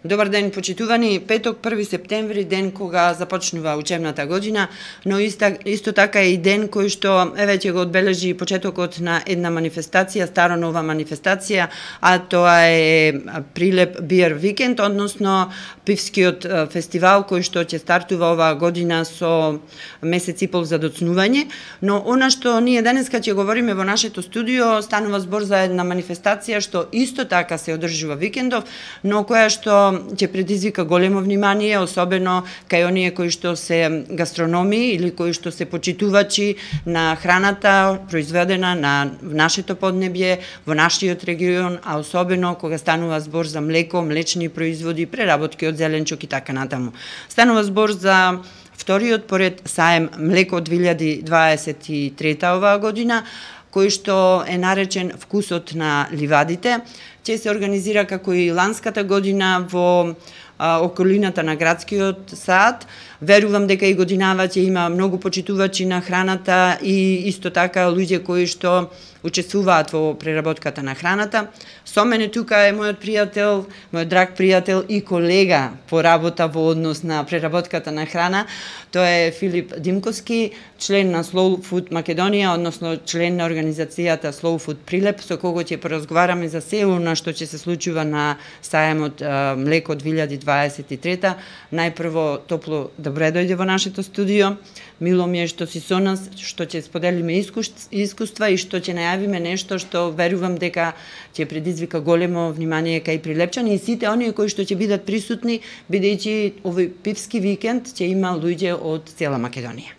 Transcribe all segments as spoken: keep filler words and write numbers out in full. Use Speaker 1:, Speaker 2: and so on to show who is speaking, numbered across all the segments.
Speaker 1: Добар ден, почитувани. Петок, први септември, ден кога започнува учебната година, но иста, исто така е и ден кој што еве ќе го одбележи почетокот на една манифестација, старо нова манифестација, а тоа е Прилеп Бир Викенд, односно пивскиот фестивал кој што ќе стартува оваа година со месец и пол за доцнување, но она што ние денеска ќе говориме во нашето студио станува збор за една манифестација што исто така се одржува викендов, но која што ќе предизвика големо внимание, особено кај оние кои што се гастрономи или кои што се почитувачи на храната произведена на нашето поднебје, во нашиот регион, а особено кога станува збор за млеко, млечни производи, преработки од зеленчук и така натаму. Станува збор за вториот поред саем млеко две илјади дваесет и трета оваа година, кој што е наречен Вкусот на ливадите. Ќе се организира како и ланската година во а, околината на градскиот сад. Верувам дека и годинава ќе има многу почитувачи на храната и исто така луѓе кои што учествуваат во преработката на храната. Со мене тука е мојот пријател, мојот драг пријател и колега по работа во однос на преработката на храна. Тоа е Филип Димковски, член на Slow Food Македонија, односно член на организацијата Slow Food Прилеп, со кого ќе поразговараме за се она што ќе се случува на саемот а, млеко две илјади дваесет и трета. Најпрво топло добре дојде во нашето студио. Мило ми е што си со нас, што ќе споделиме искуства и што ќе најавиме нешто што верувам дека ќе предизвика големо внимание кај прилепчани и сите оние кои што ќе бидат присутни, бидејќи овој пивски викенд ќе има луѓе од цела Македонија.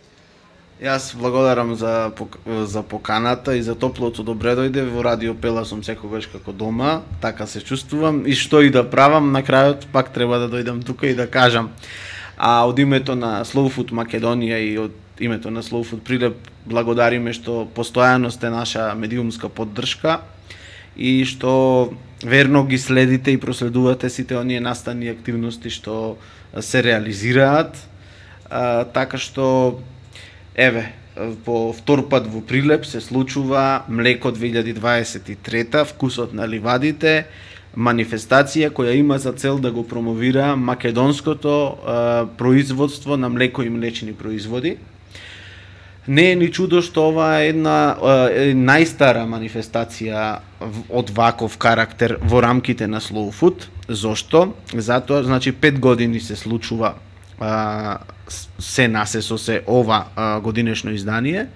Speaker 2: Јас благодарам за за поканата и за топлото добре дојде. Во Радио Пела сум секогаш како дома, така се чувствувам и што и да правам, на крајот пак треба да дојдам тука и да кажам. А од името на Slow Food Македонија и од името на Slow Food Прилеп благодариме што постојано сте наша медиумска поддршка и што верно ги следите и проследувате сите оние настани активности што се реализираат. А, така што еве по втор пат во Прилеп се случува млеко две илјади дваесет и трета, Вкусот на ливадите, манифестација која има за цел да го промовира македонското а, производство на млеко и млечни производи. Не е ни чудо што ова е една е најстара манифестација од ваков карактер во рамките на Slow Food. Зошто? Затоа, значи, пет години се случува а, се насе со се ова а, годинешно издание.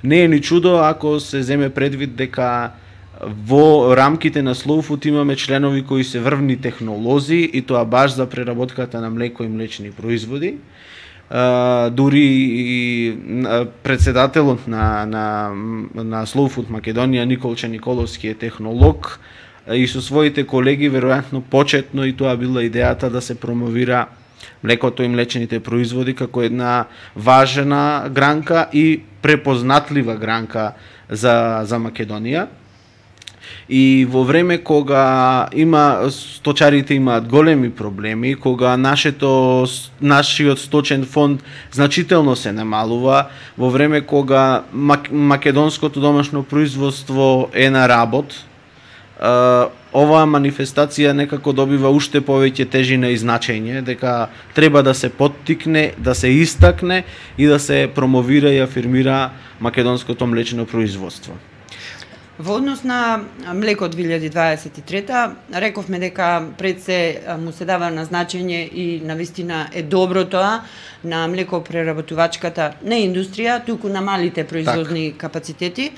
Speaker 2: Не е ни чудо ако се земе предвид дека во рамките на Slow Food имаме членови кои се врвни технолози и тоа баш за преработката на млеко и млечни производи. Uh, дури и председателот на, на, на Slow Food Македонија Николче Николовски е технолог и со своите колеги веројатно почетно и тоа била идејата да се промовира млекото и млечните производи како една важна гранка и препознатлива гранка за, за Македонија. И во време кога има сточарите имаат големи проблеми, кога нашето нашиот сточен фонд значително се намалува, во време кога македонското домашно производство е на работ, оваа манифестација некако добива уште повеќе тежина и значење, дека треба да се поттикне, да се истакне и да се промовира и афирмира македонското млечно производство.
Speaker 1: Во однос на млеко две илјади дваесет и трета, рековме дека пред се му се дава на значење и навистина е добро тоа на млекопреработувачката не индустрија, туку на малите производни так. капацитети.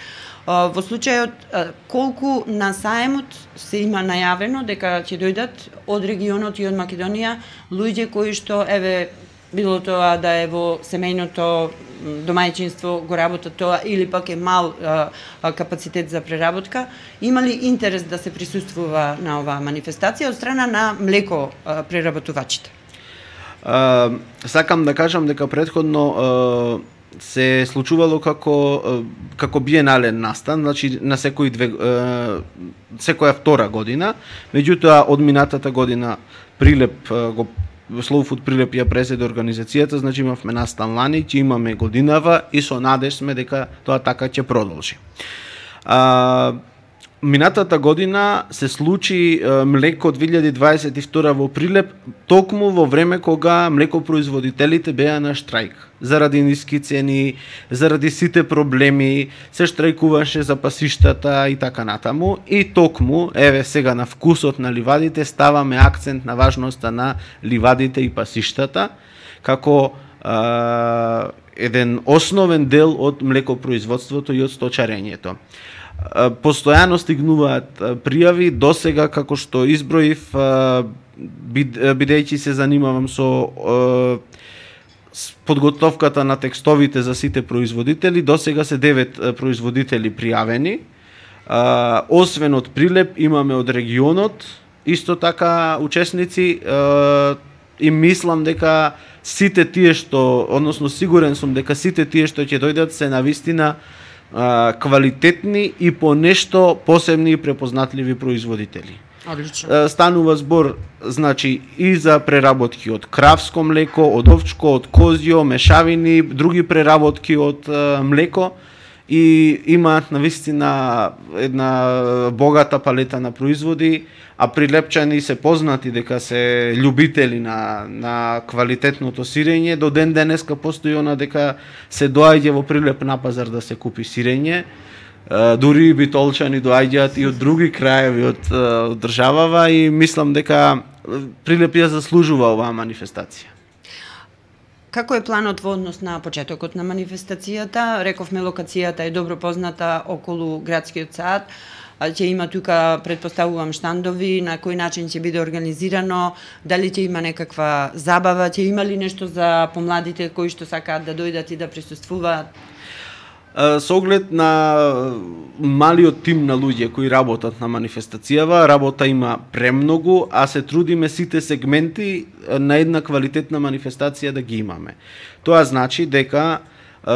Speaker 1: Во случајот колку на саемот се има најавено дека ќе дојдат од регионот и од Македонија луѓе кои што еве било тоа да е во семејното домајчинство го работат тоа или пак е мал а, а, капацитет за преработка, има ли интерес да се присуствува на оваа манифестација од страна на млеко а, преработувачите?
Speaker 2: А, сакам да кажам дека претходно а, се случувало како како биенален настан, значи на секои две секоја втора година, меѓутоа од минатата година Прилеп го Slow Food Прилеп ја преседе организацијата, значи имавме настан лани, ќе имаме годинава и со надеж сме дека тоа така ќе продолжи. А, минатата година се случи е, млеко две илјади дваесет и втора во Прилеп, токму во време кога млекопроизводителите беа на штрајк. Заради ниски цени, заради сите проблеми, се штрајкуваше за пасиштата и така натаму. И токму, еве сега на вкусот на ливадите, ставаме акцент на важноста на ливадите и пасиштата, како е, еден основен дел од млекопроизводството и од сточарењето. Постојано стигнуваат пријави, досега како што изброив, бидејќи се занимавам со подготовката на текстовите за сите производители, досега се девет производители пријавени. Освен од Прилеп, имаме од регионот исто така учесници и мислам дека сите тие што, односно сигурен сум дека сите тие што ќе дојдат се навистина квалитетни и по нешто посебни и препознатливи производители.
Speaker 1: Одлично.
Speaker 2: Станува збор, значи, и за преработки од кравско млеко, од овчко, од козјо, мешавини, други преработки од млеко, и имаат навистина една богата палета на производи, а прилепчани се познати дека се љубители на, на квалитетното сирење. До ден денеска постои она дека се доаѓа во Прилеп на пазар да се купи сирење. Дури и битолчани доаѓаат и од други краеви од, од државава, и мислам дека Прилеп ја заслужува оваа манифестација.
Speaker 1: Како е планот во однос на почетокот на манифестацијата? Рековме, локацијата е добро позната околу градскиот сад. Ќе има тука, предпоставувам, штандови, на кој начин ќе биде организирано, дали ќе има некаква забава, ќе има ли нешто за помладите кои што сакаат да дојдат и да присуствуваат?
Speaker 2: Со оглед на малиот тим на луѓе кои работат на манифестацијава, работа има премногу, а се трудиме сите сегменти на една квалитетна манифестација да ги имаме. Тоа значи дека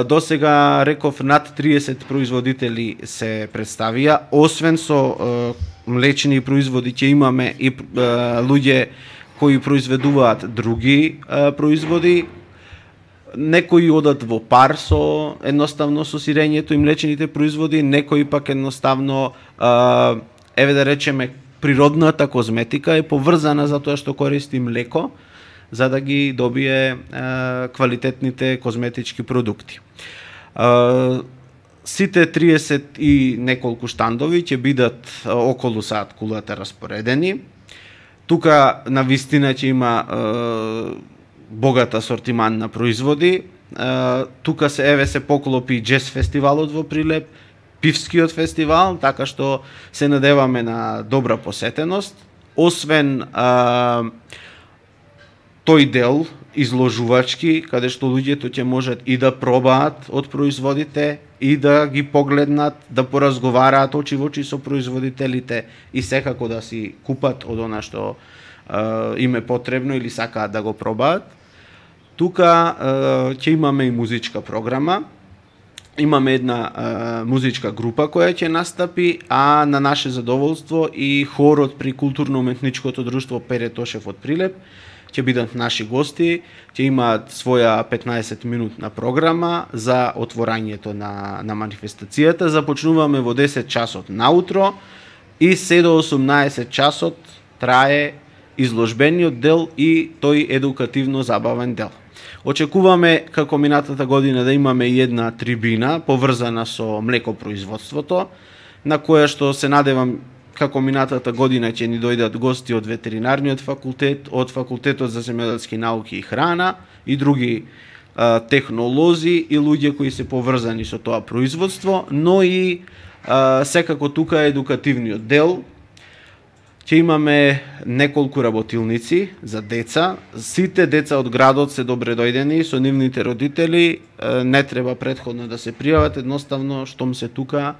Speaker 2: досега, реков, над триесет производители се представија, освен со е, млечни производи ќе имаме и е, луѓе кои произведуваат други е, производи. Некои одат во пар со едноставно со сирењето и млечните производи, некои пак едноставно, е, еве да речеме, природната козметика е поврзана за тоа што користи млеко, за да ги добие е, квалитетните козметички продукти. Е, сите триесет и неколку штандови ќе бидат околу саат кулата распоредени. Тука на вистина ќе има е, богат асортиман на производи. Е, тука се еве се поклопи джез фестивалот во Прилеп, пивскиот фестивал, така што се надеваме на добра посетеност. Освен е, тој дел изложувачки, каде што луѓето ќе можат и да пробаат од производите, и да ги погледнат, да поразговараат очи во очи со производителите и секако да си купат од она што е, им е потребно или сакаат да го пробаат. Тука е, ќе имаме и музичка програма. Имаме една е, музичка група која ќе настапи, а на наше задоволство и хорот при културно-уметничкото друштво Пере Тошев од Прилеп ќе бидат наши гости, ќе имаат своја петнаесет минутна програма за отворањето на, на манифестацијата. Започнуваме во десет часот наутро и се до осумнаесет часот трае изложбениот дел и тој едукативно забавен дел. Очекуваме како минатата година да имаме и една трибина поврзана со млекопроизводството, на која што се надевам како минатата година ќе ни дојдат гости од ветеринарниот факултет, од факултетот за земјоделски науки и храна и други а, технолози и луѓе кои се поврзани со тоа производство, но и а, секако тука е едукативниот дел. Ќе имаме неколку работилници за деца. Сите деца од градот се добре дојдени со нивните родители, не треба претходно да се пријават, едноставно штом се тука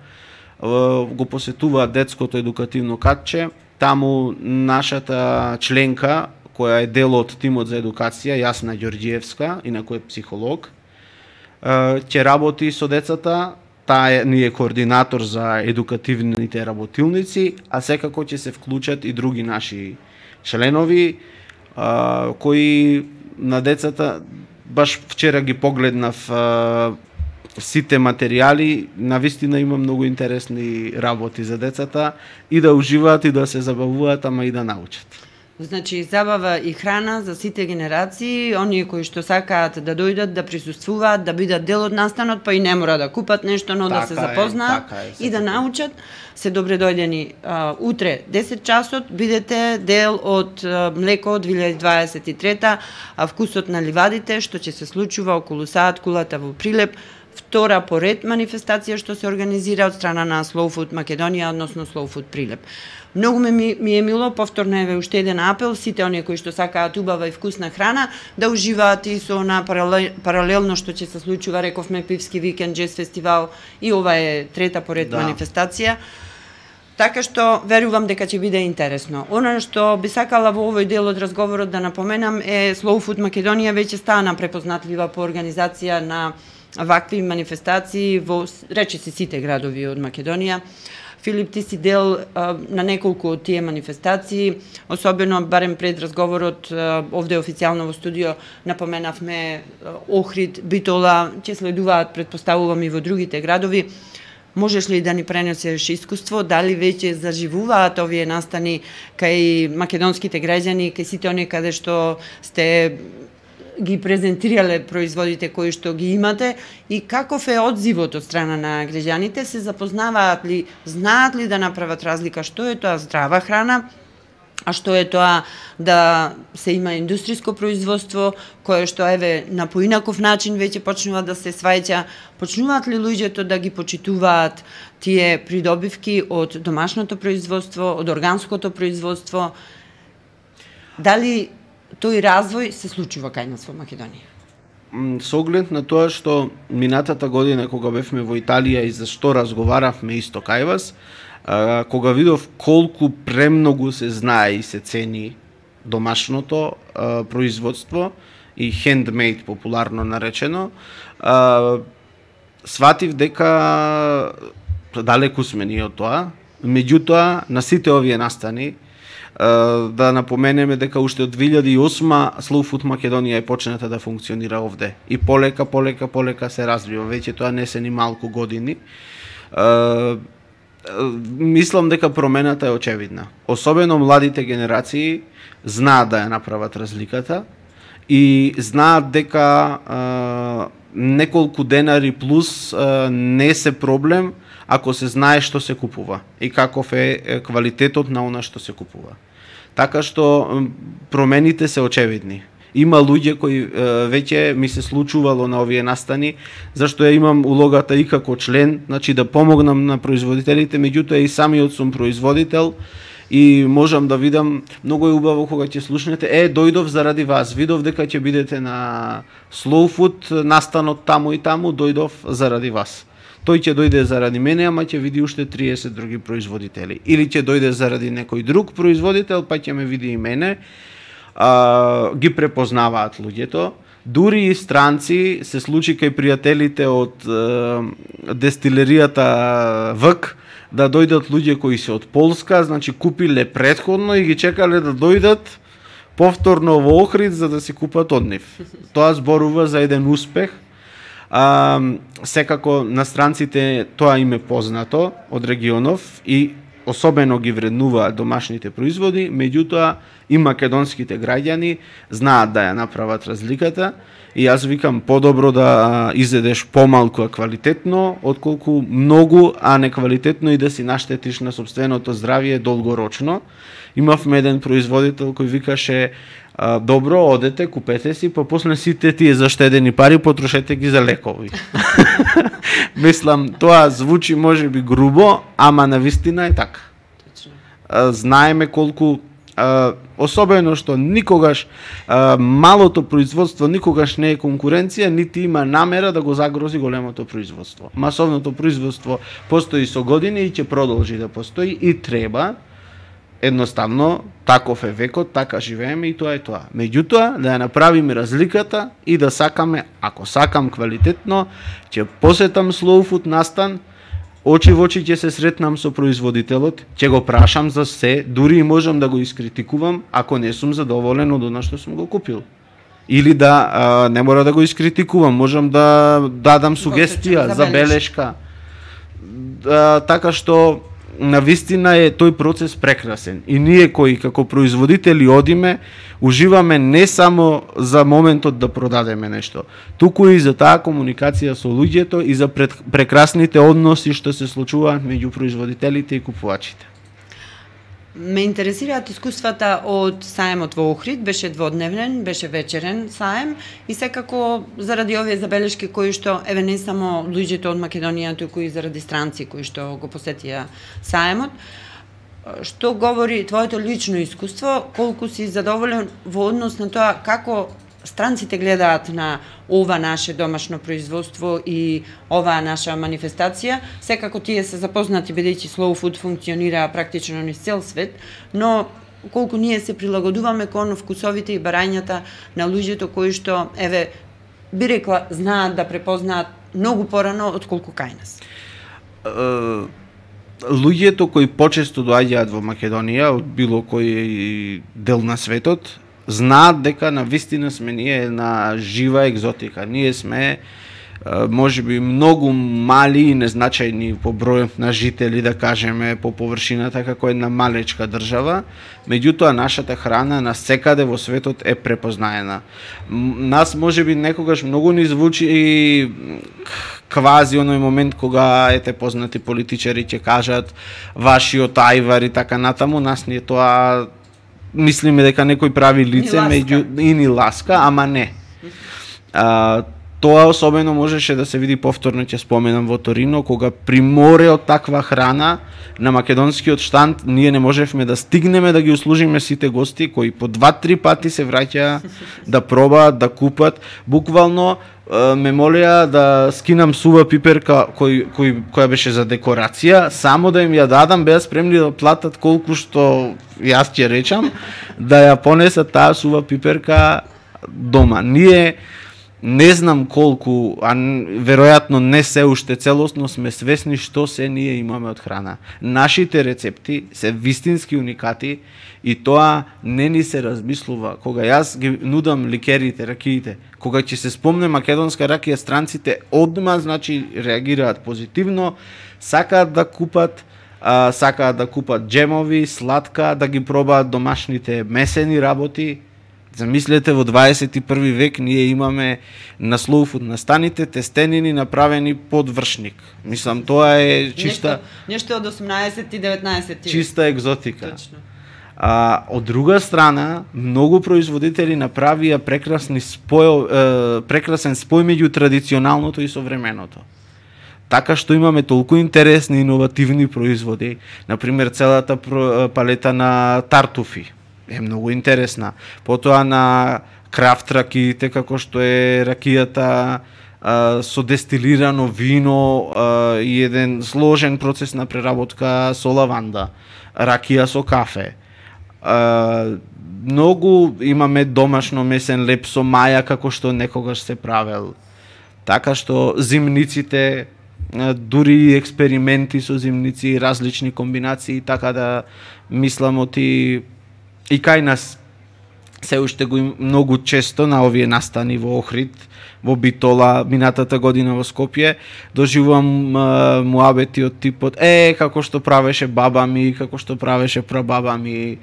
Speaker 2: го посетуваат детското едукативно катче. Таму нашата членка, која е дел од тимот за едукација, Јасна Ѓорѓиевска, инаку е психолог, ќе работи со децата. Таа ни е координатор за едукативните работилници, а секако ќе се вклучат и други наши членови, а, кои на децата, баш вчера ги погледнав а, сите материјали, навистина има многу интересни работи за децата и да уживаат и да се забавуваат, ама и да научат.
Speaker 1: Значи, забава и храна за сите генерации, оние кои што сакаат да дојдат, да присуствуваат, да бидат дел од настанот, па и не мора да купат нешто, но така да се запознаат е, така е, и да научат. Се добре дојдени. А, утре, десет часот, бидете дел од а, Млеко две илјади дваесет и трета, а вкусот на ливадите, што ќе се случува околу саат кулата во Прилеп, втора поред манифестација што се организира од страна на Slow Food Македонија, односно Slow Food Прилеп. Многу ми, ми е мило, повторно еве уште еден апел, сите оние кои што сакаат убава и вкусна храна, да уживаат и со она паралелно што ќе се случува, рековме, пивски викенд, джез фестивал, и ова е трета поред да. манифестација. Така што верувам дека ќе биде интересно. Она што би сакала во овој дел од разговорот да напоменам е Slow Food Македонија веќе стана препознатлива по организација на вакви манифестации во речиси сите градови од Македонија. Филип, ти си дел а, на неколку од тие манифестации, особено барем пред разговорот а, овде официјално во студио напоменавме а, Охрид, Битола, ќе следуваат, предпоставувам, и во другите градови. Можеш ли да ни пренесеш искуство, дали веќе заживуваат овие настани кај македонските граѓани, кај сите оние каде што сте ги презентирале производите кои што ги имате, и каков е одзивот од страна на граѓаните? Се запознаваат ли, знаат ли да направат разлика што е тоа здрава храна, а што е тоа да се има индустријско производство, кое што еве на поинаков начин веќе почнува да се сваќа? Почнуваат ли луѓето да ги почитуваат тие придобивки од домашното производство, од органското производство? Дали тој развој се случува кај нас во Македонија?
Speaker 2: Со оглед на тоа што минатата година кога бевме во Италија и за што разговаравме исто кај вас, кога видов колку премногу се знае и се цени домашното производство и handmade популарно наречено, сватив дека далеку сме ние од тоа. Меѓутоа, на сите овие настани, да напоменеме дека уште од две илјади и осма Slow Food Македонија е почната да функционира овде. И полека, полека, полека се развива. Веќе тоа не се ни малку години. Мислам дека промената е очевидна. Особено младите генерации знаат да ја направат разликата и знаат дека а, неколку денари плюс а, не се проблем ако се знае што се купува и каков е квалитетот на она што се купува. Така што промените се очевидни. Има луѓе кои е, веќе ми се случувало на овие настани, зашто ја имам улогата и како член, значи да помогнам на производителите, меѓутоа и самиот сум производител и можам да видам, многу е убаво кога ќе слушнете, е, дојдов заради вас, видов дека ќе бидете на Slow Food настанот таму и таму, дојдов заради вас. Тој ќе дојде заради мене, ама ќе види уште триесет други производители. Или ќе дојде заради некој друг производител, па ќе ме види и мене. А, ги препознаваат луѓето. Дури и странци, се случи кај пријателите од е, дестилеријата ВК, да дојдат луѓе кои се од Полска, значи купиле предходно и ги чекале да дојдат повторно во Охрид за да си купат од нив. Тоа зборува за еден успех. А, секако на странците тоа им е познато од регионов и особено ги вреднуваат домашните производи, меѓутоа и македонските граѓани знаат да ја направат разликата и јас викам подобро да изедеш помалку а квалитетно, отколку многу а неквалитетно и да си наштетиш на сопственото здравје долгорочно. Имавме еден производител кој викаше а, добро, одете, купете си, па после сите тие заштедени пари потрошете ги за лекови. Мислам, тоа звучи можеби грубо, ама навистина е така. А, знаеме колку а, особено што никогаш а, малото производство никогаш не е конкуренција, нити има намера да го загрози големото производство. Масовното производство постои со години и ќе продолжи да постои и треба. Едноставно, таков е векот, така живееме и тоа е тоа. Меѓутоа, да ја направиме разликата и да сакаме, ако сакам квалитетно, ќе посетам Slow Food настан, очи во очи ќе се сретнам со производителот, ќе го прашам за се, дури и можам да го искритикувам, ако не сум задоволен од она што сум го купил. Или да а, не мора да го искритикувам, можам да дадам сугестија, забелешка. Да, така што на вистина е тој процес прекрасен. И ние кои како производители одиме, уживаме не само за моментот да продадеме нешто, туку и за таа комуникација со луѓето и за пред, прекрасните односи што се случуваат меѓу производителите и купувачите.
Speaker 1: Ме интересираат искуствата од саемот во Охрид, беше дводневен, беше вечерен саем и секако заради овие забелешки кои што еве не само луѓето од Македонија, туку и заради странци кои што го посетија саемот, што говори твоето лично искуство, колку си задоволен во однос на тоа како странците гледаат на ова наше домашно производство и оваа наша манифестација. Секако тие се запознати бидејќи Slow Food функционира практично низ цел свет, но колку ние се прилагодуваме кон вкусовите и барањата на луѓето кои што, еве, би рекла, знаат да препознаат многу порано отколку кај нас.
Speaker 2: Uh... Луѓето кои почесто доаѓаат во Македонија од било кој дел на светот знаат дека на вистина сме ние една жива екзотика. Ние сме можеби многу мали и незначајни по број на жители, да кажеме, по површината како една малечка држава, меѓутоа нашата храна на секаде во светот е препознаена. Нас можеби некогаш многу ни звучи и квази оној момент кога ете познати политичари ќе кажат вашиот ајвар и така натаму, нас ни е тоа, мислиме дека некој прави лице меѓу и ни ласка, ама не. А, тоа особено можеше да се види повторно, ќе споменам, во Торино, кога при море од таква храна на македонскиот штанд ние не можевме да стигнеме да ги услужиме сите гости кои по два-три пати се враќаа да пробаат, да купат. Буквално ме молеа да скинам сува пиперка кој, кој, која беше за декорација, само да им ја дадам, беа спремни да платат колку што јас ќе речам, да ја понесат таа сува пиперка дома. Ние не знам колку, а веројатно не се уште целосно сме свесни што се ние имаме од храна. Нашите рецепти се вистински уникати и тоа не ни се размислува. Кога јас ги нудам ликерите, ракиите, кога ќе се спомне македонска ракија, странците одма, значи, реагираат позитивно, сакаат да купат, а, сакаат да купат джемови, сладка, да ги пробаат домашните месени работи. Замислете, во дваесет и први век ние имаме на Slow Food настаните тестенини направени под вршник. Мислам, тоа е чиста...
Speaker 1: Нешто, нешто од осумнаесет и деветнаесет век.
Speaker 2: Чиста екзотика.
Speaker 1: Точно.
Speaker 2: А, од друга страна, многу производители направија прекрасни спој, е, прекрасен спој меѓу традиционалното и современото. Така што имаме толку интересни иновативни производи, например целата палета на тартуфи е многу интересна. Потоа на крафт ракиите, како што е ракијата а, со дестилирано вино а, и еден сложен процес на преработка со лаванда, ракија со кафе. А, многу имаме домашно месен леп со маја, како што некогаш се правел. Така што зимниците, дури експерименти со зимници, различни комбинации, така да мислам оти и кај нас се уште го им многу често на овие настани во Охрид, во Битола, минатата година во Скопје, доживувам муабети од типот е, како што правеше баба ми, како што правеше прабаба ми,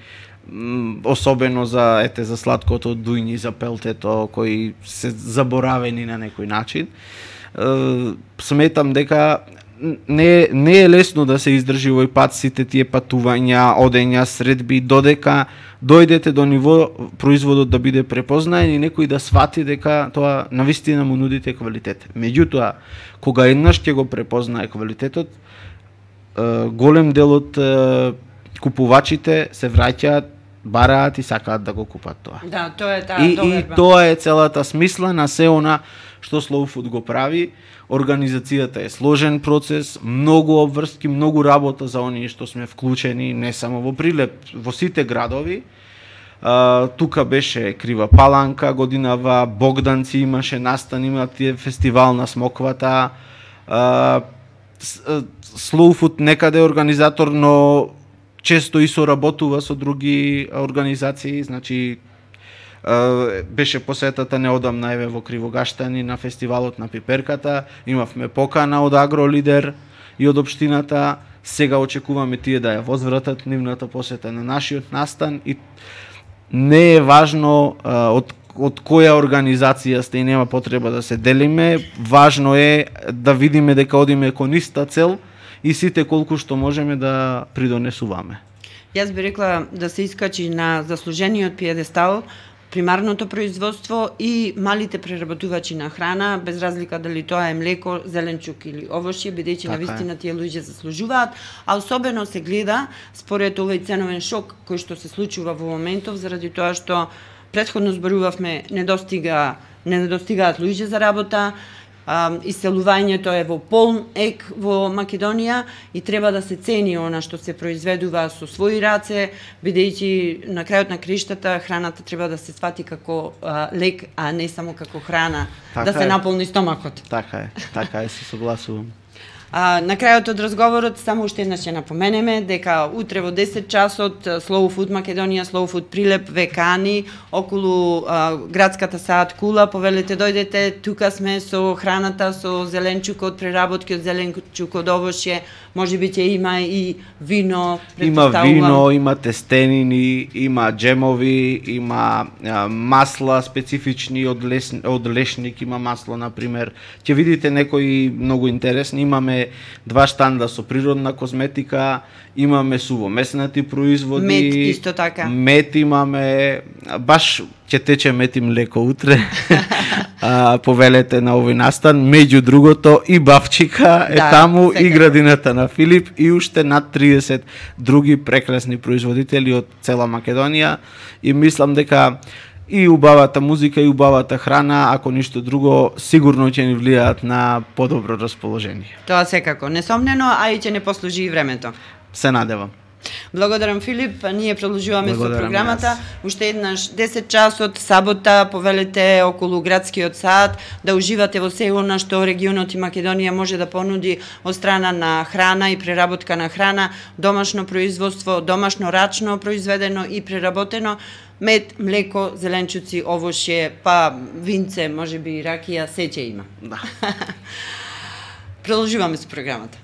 Speaker 2: особено за, ете, за сладкото дујни, за пелтето, кои се заборавени на некој начин. Сметам дека не, не е лесно да се издржи овој пат сите тие патувања, одења, средби, додека дојдете до ниво производот да биде препознаен и некој да свати дека тоа навистина му нудите квалитет. Меѓутоа, кога еднаш ќе го препознае квалитетот, голем дел од купувачите се враќаат, бараат и сакаат да го купат тоа.
Speaker 1: Да, тоа е таа
Speaker 2: и,
Speaker 1: доверба.
Speaker 2: И тоа е целата смисла на се она што Slow Food го прави. Организацијата е сложен процес, многу обврски, многу работа за оние што сме вклучени, не само во Прилеп, во сите градови. А, тука беше Крива Паланка годинава, Богданци имаше настан, има тие фестивал на смоквата. А, Slow Food некаде е организатор, но често и соработува со други организации, значи Беше посетата неодамна еве во Кривогаштани на фестивалот на пиперката, имавме покана од Агролидер и од општината. Сега очекуваме тие да ја возвратат нивната посета на нашиот настан и не е важно од од која организација сте и нема потреба да се делиме, важно е да видиме дека одиме кон иста цел и сите колку што можеме да придонесуваме.
Speaker 1: Јас би рекла да се искачи на заслужениот пиедестал примарното производство и малите преработувачи на храна, без разлика дали тоа е млеко, зеленчук или овошје, бидејќи
Speaker 2: така
Speaker 1: навистина тие луѓе заслужуваат, а особено се гледа според овој ценовен шок кој што се случува во моментов, заради тоа што претходно зборувавме, недостига, не недостигаат луѓе за работа, а, иселувањето е во полн ек во Македонија и треба да се цени она што се произведува со своји раце, бидејќи на крајот на криштата храната треба да се свати како а, лек, а не само како храна,
Speaker 2: така
Speaker 1: да се
Speaker 2: е.
Speaker 1: наполни стомакот.
Speaker 2: Така е, така е, се согласувам.
Speaker 1: А, на крајот од разговорот само уште еднаш ќе напоменеме дека утре во десет часот Slow Food Македонија, Slow Food Прилеп ве кани околу а, градската саат Кула, повелете дојдете, тука сме со храната, со зеленчукот, преработки од зеленчук од овошје, можеби ќе има и вино,
Speaker 2: Има вино, има тестенини, има джемови, има а, масла специфични од лес, од лешник, има масло на пример. Ќе видите некои многу интересни, имаме два штанда со природна козметика, имаме сувомеснати производи,
Speaker 1: мед исто така.
Speaker 2: Мед имаме, баш ќе тече мед и млеко утре. а, повелете на овој настан, меѓу другото и Бавчика е
Speaker 1: да,
Speaker 2: таму
Speaker 1: секако.
Speaker 2: И градината на Филип и уште над триесет други прекрасни производители од цела Македонија и мислам дека и убавата музика и убавата храна, ако ништо друго, сигурно ќе ни влијаат на подобро расположение.
Speaker 1: Тоа секако, несомнено, а и ќе не послужи и времето.
Speaker 2: Се надевам.
Speaker 1: Благодарам, Филип. Ние продолжуваме
Speaker 2: Благодарам
Speaker 1: со програмата.
Speaker 2: јас.
Speaker 1: Уште еднаш десет часот сабота повелете околу градскиот сад да уживате во се она што регионот и Македонија може да понуди од страна на храна и преработка на храна, домашно производство, домашно рачно произведено и преработено, мед, млеко, зеленчуци, овошје, па винце, можеби и ракија, се ќе има.
Speaker 2: Да.
Speaker 1: Продолжуваме со програмата.